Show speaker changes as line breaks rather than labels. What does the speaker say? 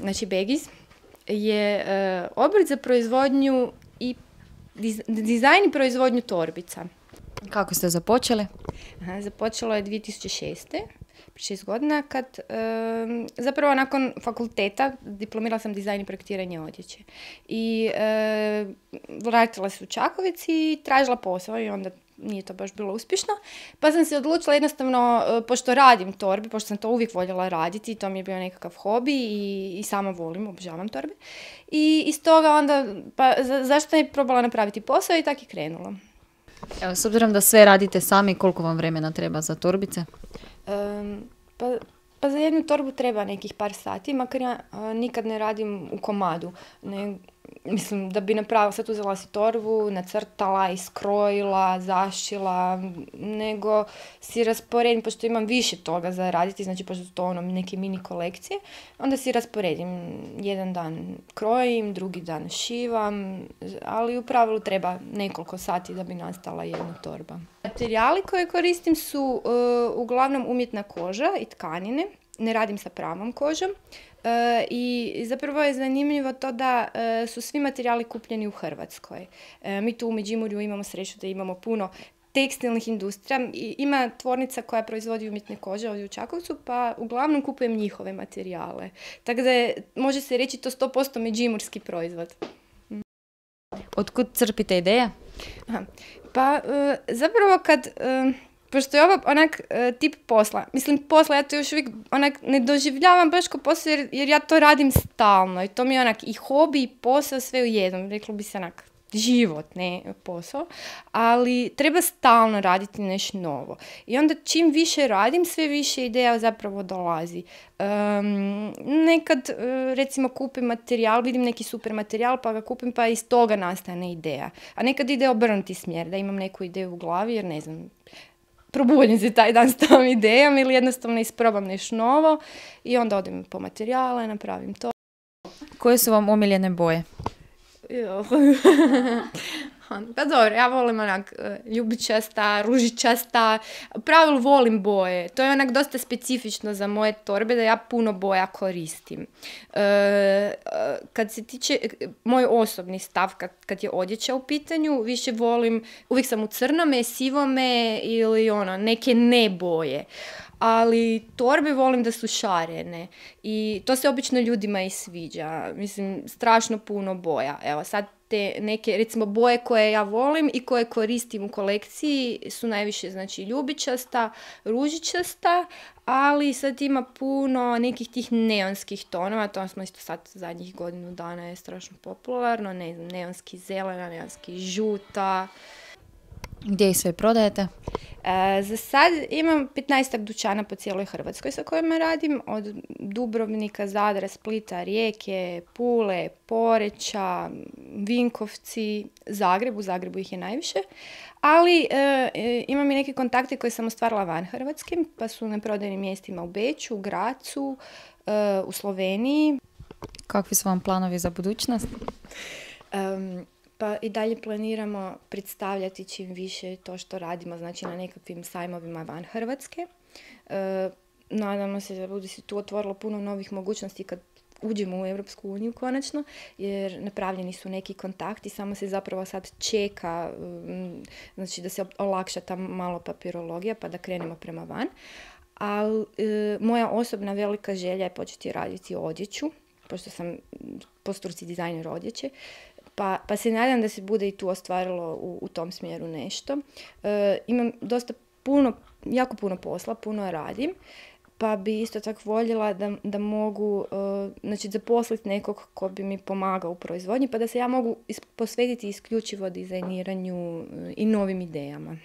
znači Begiz, je obrt za proizvodnju i dizajn i proizvodnju torbica.
Kako ste započeli?
Započelo je 2006. prije 6 godina, kad zapravo nakon fakulteta diplomirala sam dizajn i projektiranje odjeće. I vratila se u Čakovec i tražila posao i onda nije to baš bilo uspješno. Pa sam se odlučila jednostavno, pošto radim torbe, pošto sam to uvijek voljela raditi, to mi je bio nekakav hobi i sama volim, obožavam torbe. I iz toga onda, pa zašto ne probala napraviti posao i tako je krenulo.
Evo, s obzirom da sve radite sami, koliko vam vremena treba za torbice?
Pa za jednu torbu treba nekih par sati, makar ja nikad ne radim u komadu. Mislim, da bi napravila, sad uzela si torbu, nacrtala, iskrojila, zašila, nego si rasporedim, pošto imam više toga za raditi, znači pošto su to neke mini kolekcije, onda si rasporedim. Jedan dan krojim, drugi dan šivam, ali u pravilu treba nekoliko sati da bi nastala jedna torba. Materijali koje koristim su uglavnom umjetna koža i tkanine, ne radim sa pravom kožom. I zapravo je zanimljivo to da su svi materijali kupljeni u Hrvatskoj. Mi tu u Međimurju imamo sreću da imamo puno tekstilnih industrija. Ima tvornica koja proizvodi umjetne kože ovdje u Čakovcu, pa uglavnom kupujem njihove materijale. Tako da može se reći to 100% međimurski proizvod.
Otkud crpite ideje?
Pa zapravo kad... Pošto je ovo onak tip posla, mislim posla, ja to još uvijek onak ne doživljavam baš kao posao jer ja to radim stalno i to mi je onak i hobi i posao sve u jednom, reklo bi se onak život, ne posao, ali treba stalno raditi nešto novo. I onda čim više radim, sve više ideja zapravo dolazi. Nekad recimo kupim materijal, vidim neki super materijal pa ga kupim pa iz toga nastane ideja. A nekad ide obrnuti smjer, da imam neku ideju u glavi jer ne znam, probudim se taj dan s tom idejom ili jednostavno isprobam nešto novo i onda odem po materijale, napravim to.
Koje su vam omiljene boje?
Pa dobro, ja volim onak ljubičasta, ružičasta, u pravilu volim boje. To je onak dosta specifično za moje torbe da ja puno boja koristim. Kad se tiče moj osobni stav, kad je odjeća u pitanju, više volim, uvijek sam u crnome, sivome ili neke ne boje. Ali torbe volim da su šarene i to se obično ljudima i sviđa. Mislim, strašno puno boja. Evo sad te neke, recimo, boje koje ja volim i koje koristim u kolekciji su najviše, znači, ljubičasta, ružičasta, ali sad ima puno nekih tih neonskih tonova, to smo isto sad zadnjih godinu dana je strašno popularno, ne znam, neonski zelena, neonski žuta.
Gdje ih sve prodajete?
Za sad imam 15 dućana po cijeloj Hrvatskoj sa kojima radim, od Dubrovnika, Zadra, Splita, Rijeke, Pule, Poreča, Vinkovci, Zagreb, u Zagrebu ih je najviše, ali imam i neke kontakte koje sam ostvarila van Hrvatske, pa su na prodajnim mjestima u Beču, Gracu, u Sloveniji.
Kakvi su vam planovi za budućnost?
Pa i dalje planiramo predstavljati čim više to što radimo, znači na nekakvim sajmovima van Hrvatske. Nadamo se da bude se tu otvorilo puno novih mogućnosti kad uđemo u Europsku uniju konačno, jer napravljeni su neki kontakti, samo se zapravo sad čeka, znači da se olakša ta malo papirologija pa da krenemo prema van. Ali moja osobna velika želja je početi raditi odjeću, pošto sam po struci dizajner odjeće. Pa se nadam da se bude i tu ostvarilo u tom smjeru nešto. Imam dosta jako puno posla, puno radim, pa bi isto tako voljela da mogu znači, zaposliti nekog ko bi mi pomagao u proizvodnji, pa da se ja mogu posvetiti isključivo dizajniranju i novim idejama.